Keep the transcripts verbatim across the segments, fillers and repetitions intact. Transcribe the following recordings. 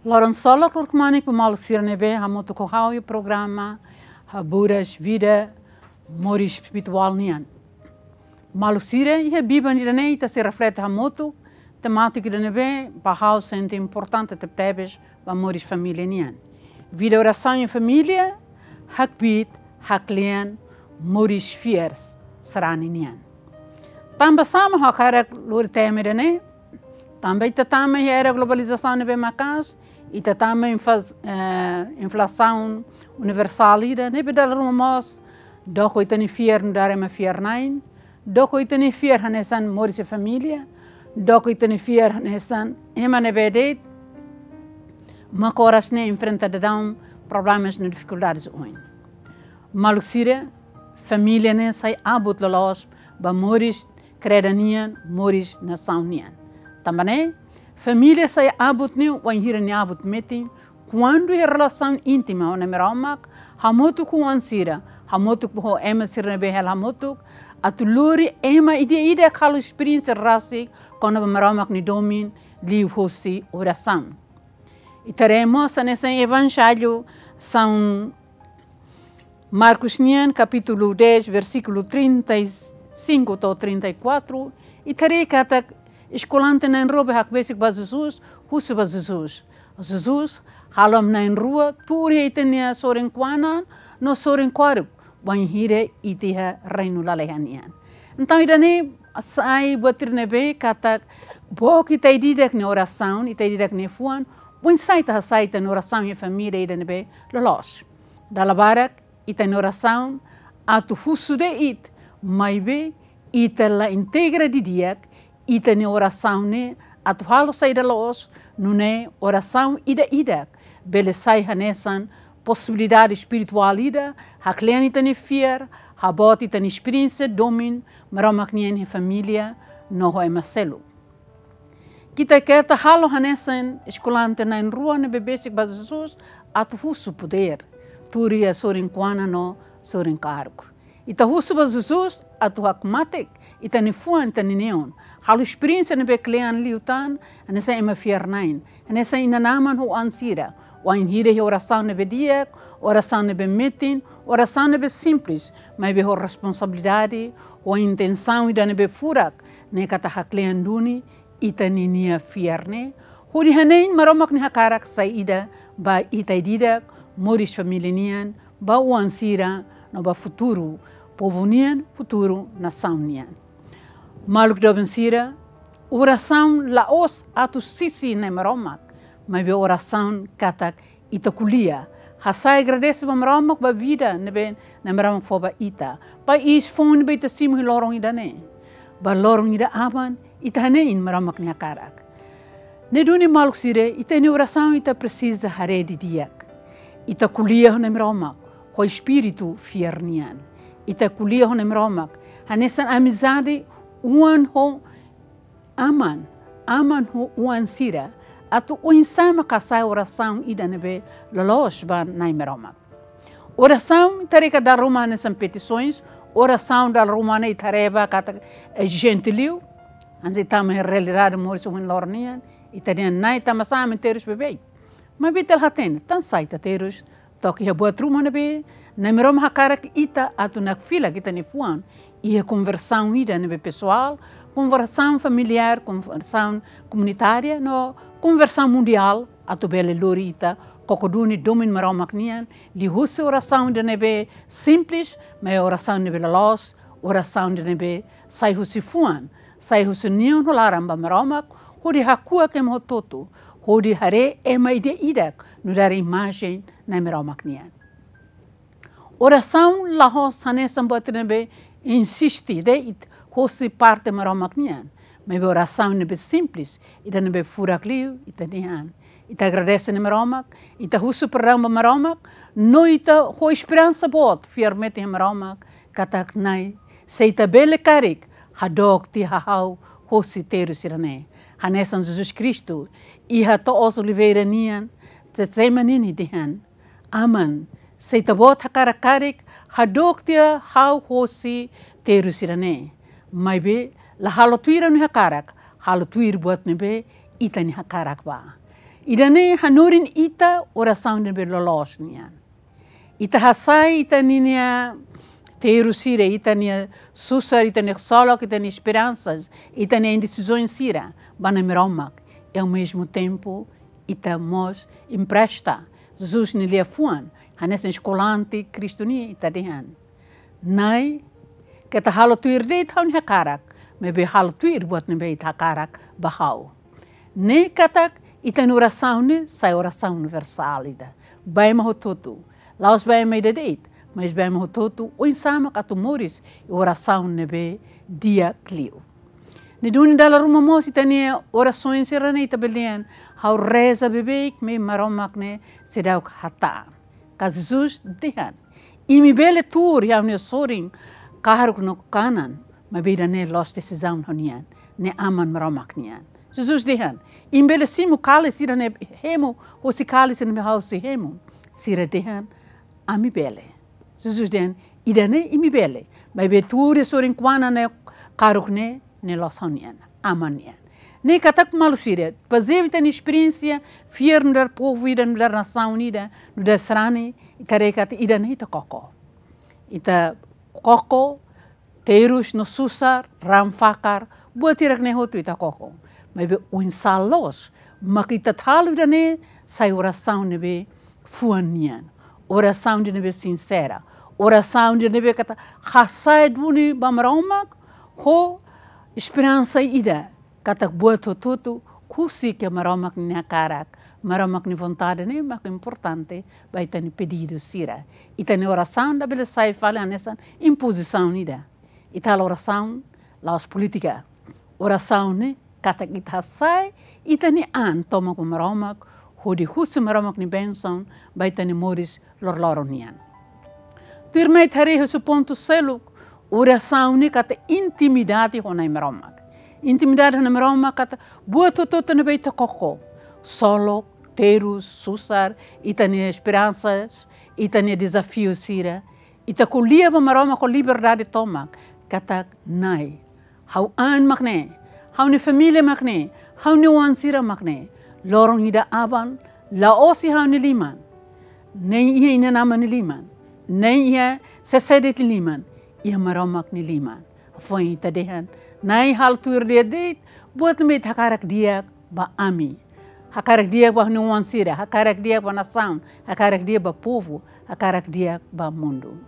Loron solok, loron kmanek ba maluk sira ne'ebé hamutuk ho ha'u iha programa Haburas Vida Moris Espirituál nian. Maluk sira, iha biban ida-ne'e ita sei reflete hamutuk temátika ida ne'ebé ba ha'u sente importante tebetebes ba moris família nian. Vida orasaun iha família, hakbiit, haklean, moris fiar sarani nian. Tanba sá mak ha'u hakarak lori tema ida-ne'e? Tanba ita tama iha era globalizasaun ne'ebé maka'as, ita tama infla-, eh, inflasaun universál ida ne'ebé dala ruma mós doko ita-nia fiar nu'udar ema fiar-na'in, doko ita-nia fiar hanesan moris iha família, doko ita-nia fiar hanesan ema ne'ebé de'it mak oras ne'e enfrenta daudaun problemas no difikuldades oioin. Maluk sira, família ne'e sai abut loloos ba moris kreda nian, moris nasaun nian. Tanba ne'e, família sai abut ne'e wainhira nia abut metin, kuandu iha relasaun íntima ho Nai Maromak, hamutuk ho oan sira, hamutuk ho ema sira ne'ebé hela hamutuk, atu lori ema ida-idak halo esperiénsia rasik kona-ba Maromak nia domin liuhosi orasaun. Ita haree mós hanesan Evanjellu São Marcos nian, kapítulu dez, versíkulu trinta e cinco to'o trinta e quatro, ita haree katak eskolante na'in-rua bá hakbesik ba Jesus, husu ba Jesus: Jesus, halo ami na'in-rua tuur iha ita-nia sorin-kuana no sorin-kuaruk, bainhira ita iha reinu lalehan nian. Entaun, ida-ne'e sai buat ida ne'ebé katak book ita ida-idak nia orasaun, ita ida-idak nia fuan, oinsá ita hasa'e ita-nia orasaun iha família ida ne'ebé loloos. Dala barak, ita-nia orasaun atu husu de'it, maibé ita la integra didi'ak ita-nia orasaun ne'e atu halo saida loos, nune'e orasaun ida-idak bele sai hanesan posibilidade espirituál ida, haklean ita-nia fiar, haboot ita-nia esperiénsia domin Maromak nian iha família no ho ema seluk. Ita keta halo hanesan eskolante na'in-rua ne'ebé besik ba Jesus atu husu podér, tuur iha sorin-kuana no sorin-kuaruk. Ita husu ba Jesus atu hakmatek ita-nia fuan, ita-nia neon, halo esperiénsia ne'ebé klean liután, hanesan ema fiar-na'in, hanesan inan-aman ho oan sira, wainhira iha orasaun ne'ebé di'ak, orasaun ne'ebé metin, orasaun ne'ebé simples, maibé ho responsabilidade, ho intensaun ida ne'ebé furak, ne'e katak haklean duni ita-nia fiar ne'e, hodi hanein Maromak nia hakarak sai ida ba ita ida-idak, moris família nian, ba oan sira, no ba futuru povu nian, futuru nasaun nian. Maluk doben sira, orasaun la'ós atu sisi Nai Maromak, maibé orasaun katak ita ko'alia, hasa'e agradese ba Maromak ba vida ne'ebé Nai Maromak fó ba ita, ba iis foun ne'ebé ita simu iha loron ida-ne'e, ba loron ida aban ita hanein Maromak nia hakarak. Ne'e duni, maluk sira, ita-nia orasaun ita presiza haree didi'ak. Ita ko'alia ho Nai Maromak ho espíritu fiar nian. Ita ko'alia ho Nai Maromak hanesan amizade oan ho aman, aman ho oan sira, atu oinsá mak hasa'e orasaun ida ne'ebé loloos ba Nai Maromak. Orasaun ita haree katak dala ruma hanesan petisoens, orasaun dala ruma ne'e ita haree ba katak ezijente liu. Hanesan ita tama iha realidade moris ohin loron nian, ita dehan: Nai, tanbasá ami terus beibeik? Maibé ita la hatene tansá ita terus, to'o iha buat ruma ne'ebé Nai Maromak hakarak ita atu nakfilak ita-nia fuan iha konversaun ida ne'ebé pesoál, konversaun familiár, konversaun komunitária, no konversaun mundiál, atu bele lori ita koko duni domin Maromak nian liuhusi orasaun ida ne'ebé simples, maibé orasaun ne'ebé loloos, orasaun ida ne'ebé sai husi fuan, sai husi neon ho laran ba Maromak, hodi hakuak ema hotu-hotu, hodi haree ema ida-idak nu'udar imajen Nai Maromak nian. Orasaun la'ós hanesan buat ne'ebé insiste de'it hosi parte Maromak nian, maibé orasaun ne'ebé simples, ida ne'ebé furak liu, ita dehan: Ita agradese Nai Maromak, ita husu perdaun ba Maromak, no ita ho esperansa boot, fiar metin iha Maromak, katak: Nai, se Ita bele karik, hadook tiha ha'u hosi terus sira-ne'e. Hanesan Jesus Kristu iha to'os oliveira nian Getsemane nia dehan: Aman, se Ita-Boot hakarak karik, hadook tiha ha'u hosi terus sira-ne'e. Maibé la halo tuir ha'u-nia hakarak, halo tuir buat ne'ebé Ita-nia hakarak bá. Ida-ne'e hanorin ita orasaun ne'ebé loloos nian. Ita hasai ita-nia terus sira, ita-nia susar, ita-nia ksolok, ita-nia esperansa, ita-nia indesizaun sira ba Nai Maromak. E ao mesmo tempo, ita mós empresta Jesus nia liafuan hanesan eskolante Kristu nian, ita dehan: Nai, keta halo tuir de'it ha'u-nia hakarak, maibé halo tuir buat ne'ebé Ita hakarak ba ha'u. Ne'e katak ita-nia orasaun ne'e sai orasaun universál ida, ba ema hotu-hotu. La'ós ba ema ida de'it, mas ba ema hotu-hotu, oinsá mak atu moris iha orasaun ne'ebé di'ak liu. Ne'e duni dala ruma mós ita-nia orasaun sira-ne'e ita bele dehan: Ha'u reza beibeik, maibé Maromak ne'e seidauk hatán. Ka Jesus dehan: Imi bele tuur iha ha'u-nia sorin kahruk no kanan, maibé ida-ne'e la'ós desizaun ha'u-nian, ne'e Aman Maromak nian. Jesus dehan: Imi bele simu kalis ida-ne'e hemu, hosi kalis ne'ebé ha'u sei hemu? Sira dehan: Ami bele. Jesus dehan: Ida-ne'e imi bele, maibé tuur iha sorin kanan no kahruk ne'e, ne'e la'ós ha'u-nian, Aman nian. Ne'e katak maluk sira, bazeia ba ita-nia esperiénsia fiar nu'udar povu ida, nu'udar nasaun ida, nu'udar sarani, ita haree katak ida-ne'e ita koko. Ita koko terus no susar, raan fakar, buat hirak-ne'e hotu ita koko. Maibé oinsá loos mak ita halo ida-ne'e sai orasaun ne'ebé fuan nian, orasaun ida ne'ebé sinsera, orasaun ida ne'ebé katak hasai duni ba Maromak ho esperansa ida katak buat hotu-hotu husik iha Maromak nia hakarak, Maromak nia vontade, ne'e mak importante ba ita-nia pedidu sira. Ita-nia orasaun labele sai fali hanesan impozisaun ida. Ita halo orasaun la'ós polítika. Orasaun ne'e katak ita hasai ita-nia an tomak ba Maromak, hodi husu Maromak nia bensaun ba ita-nia moris loroloron nian. Tuirmai ita haree husi pontu seluk, orasaun ne'e katak intimidade ho Nai Maromak. Intimidade ho Nai Maromak katak buat hotu-hotu ne'ebé ita koko, ksolok, terus, susar, ita-nia esperansa, ita-nia dezafiu sira, ita ko'alia ba Maromak ho liberdade tomak, katak: Nai, ha'u an mak ne'e, ha'u-nia família mak ne'e, ha'u-nia oan sira mak ne'e. Loron ida aban, la'ós iha ha'u-nia liman, nem iha inan-aman nia liman, nem iha sé-sé de'it nia liman, iha Maromak nia liman. Hafoin ita dehan: Nai, halo tuir de'it buat ne'ebé Ita hakarak di'ak ba ami, hakarak di'ak ba ha'u-nia oan sira, hakarak di'ak ba nasaun, hakarak di'ak ba povu, hakarak di'ak ba mundu.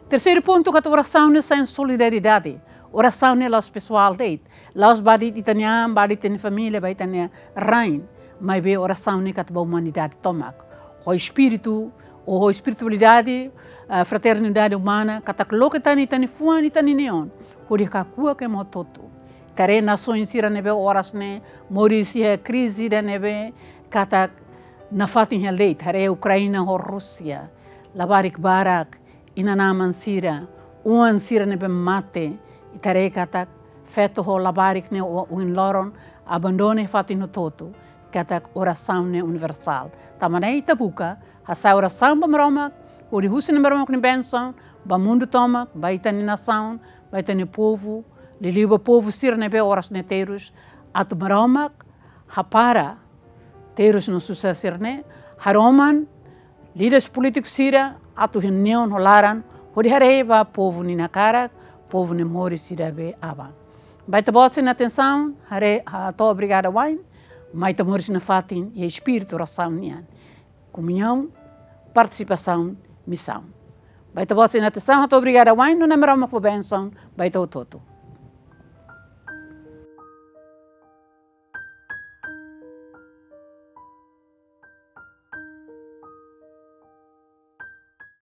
Terseiru pontu katak orasaun ne'e sai solidariedade. Orasaun ne'e la'ós pesoál de'it, la'ós ba de'it ita-nia an, ba de'it ita-nia família, ba ita-nia rain, maibé orasaun ne'e katak ba umanidade tomak. Ho espíritu, ou ho espiritualidade, ah, fraternidade umana, katak loke tan ita-nia fuan, ita-nia neon, hodi hakuak ema hotu-hotu. Ita haree nasaun sira ne'ebé oras ne'e moris iha krize ida ne'ebé katak nafatin hela de'it, haree Ukraina ho Rúsia, labarik barak, inan-aman sira, oan sira ne'ebé mate, ita haree katak feto ho labarik ne'e o-, ohin loron abandona fatin hotu-hotu, katak orasaun ne'e universál. Tanba ne'e ita buka hasa'e orasaun ba Maromak, hodi husu Nai Maromak nia bensaun ba mundu tomak, ba ita-nia nasaun, ba ita-nia povu, liuliu ba povu sira ne'ebé oras ne'e terus, atu Maromak hapara terus no susar sira-ne'e, haroman líderes polítiku sira atu iha neon ho laran, hodi haree ba povu nia hakarak, povu nia moris ida be aban. Ba ita-boot sira-nia atensaun, haree, hato'o obrigada wa'in, mai ita moris nafatin iha espíritu orasaun nian. Komuñaun, partisipasaun, misaun. Ba ita-boot sira-nia atensaun, hato'o obrigada wa'in, no Nai Maromak fó bensaun ba ita hotu-hotu.